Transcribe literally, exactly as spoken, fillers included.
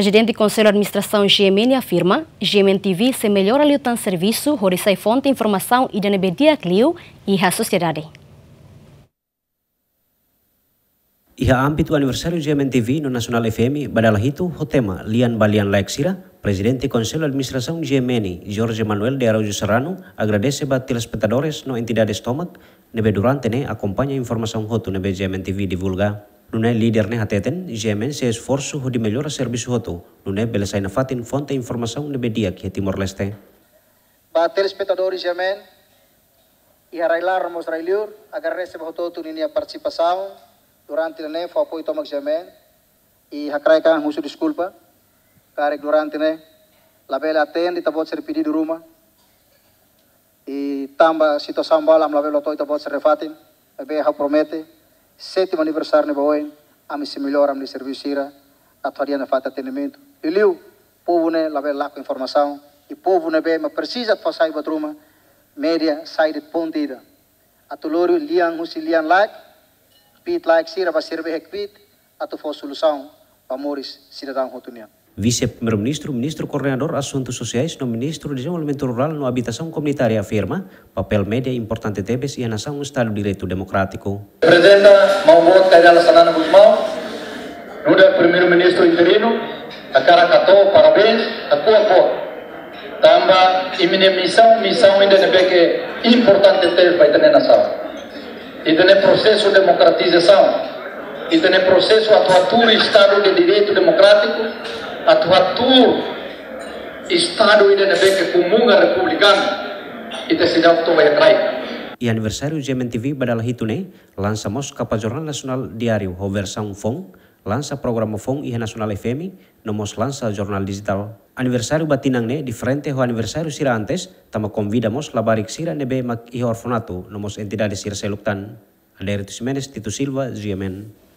Prezidente Konsellu Administrasaun GMN afirma, GMN TV sei mellora liután servisu hodi sai fonte informasaun ida ne'ebé di'ak liu iha sosiedade. Iha ámbitu aniversáriu GMN TV no Nasionál FM ba dala hitu ho tema Lian ba Lian Laek Sira, Prezidente Konsellu Administrasaun GMN, Jorge Manuel de Araújo Serrano, agradese ba telespetadores no entidades tomak ne'ebé durante ne'e akompaña informasaun hotu ne'ebé GMN TV divulga. Nune'e líder ne'e hateten, GMN sei esforsu hodi mellora servisu hotu, nune'e bele sai nafatin fonte informasaun ne'ebé di'ak iha Timor-Leste. Ba telespetadores GMN, iha rai-laran no mós rai-liur, agradese ba hotu-hotu ninia partisipasaun durante ne'e, fó apoiu tomak GMN, i hakarak husu deskulpa, karik durante ne'e labele atende ita-boot sira-nia pedidu ruma, i tanba situasaun balu ami labele to'o ita-boot sira-nia fatin, maibé ha'u promete, sétimu aniversáriu ne'e ba oin, ami sei mellora ami-nia servisu sira, atu hadi'a nafatin atendimentu. Liuliu, povu ne'e labele lakon informasaun, i povu ne'ebé mak presiza atu fó sai buat ruma, média sai de'it ponte ida. Atu lori lian husi lian laek, kbiit laek sira ba sira be iha kbiit, atu fó solusaun ba moris sidadaun hotu nian. Vise-Primeiru-Ministru, Ministru Koordenadór Asuntu Sosiais no Ministru Dezenvolvimentu Rurál no Abitasaun Komunitária afirma, papél média importante tebes iha nasaun Estadu Direitu Demokrátiku. Reprezenta maun boot Kay Rala Xanana Gusmão, nu'udar Primeiru-Ministru interinu, hakarak hato'o parabéns, hato'o apoiu. Tanba imi-nia misaun, misaun ida ne'ebé ke importante tebes ba ita-nia nasaun. Ita-nia prosesu demokratizasaun, ita-nia prosesu atu hatuur Estadu de Direitu Demokrátiku, atu hatuur Estadu ida ne'ebé ke komún ka republikanu, ita seidauk toba iha kraik. Iha aniversáriu GMN TV ba dala hitu ne'e, lansa mós kapa Jornál Nasionál Diáriu ho versaun foun, lansa programa foun iha Nasionál FM, no mós lansa jornál dijitál. Aniversáriu ba tinan ne'e diferente ho aniversáriu sira antes, tanba konvida mós labarik sira ne'ebé mak iha orfanatu, no mós entidade sira seluk tan. Adérito Ximenes, Tito Silva, GMN.